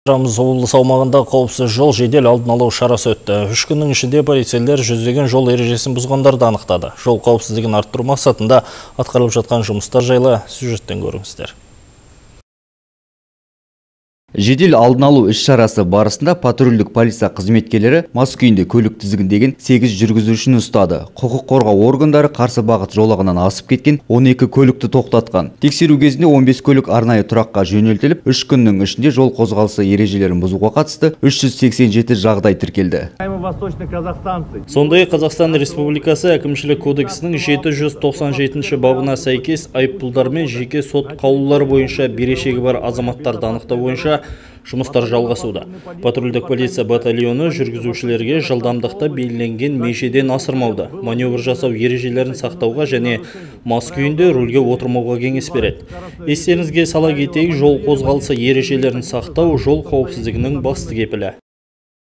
Рамыз облысы аумағында қауіпсіз жол жедел алдын алу шарасы өтті. 3 күннің ішінде полицейлер жүздеген жол ережесін бұзғандарды анықтады. Жол қауіпсіздігін арттыру мақсатында атқарылып жатқан жұмыстар жайлы сюжеттен көріңіздер. Жедел алдын алу іс-шарасы барысында патрульдік полиция қызметкерлері мас күйінде көлік тізгіндеген 8 жүргізушіні ұстады. Құқық қорғау органдары қарсы бағыт жолағынан асып кеткен 12 көлікті тоқтатқан. Тексеру кезінде 15 көлік арнайы тұраққа жөнелтіліп, 3 күннің ішінде жол қозғалысы ережелерін бұзуға қатысты 387 жағдай тіркелді. Сондай Қазақстан Республикасы әкімшілік кодексінің 797 бабына сәйкес айыппұлдар мен жеке сот қаулылары бойынша берешегі бар азаматтарды анықтау бойынша жұмыстар жалғасуда. Патрульдік полиция батальоны жүргізушілерге жылдамдықта белгіленген межеден асырмауды, маневр жасау ережелерін сақтауға және мас күйінде рөлге отырмауға кеңес береді. Естеріңізге сала кетейік, жол қозғалысы ережелерін сақтау жол қауіпсіздігінің басты кепілі.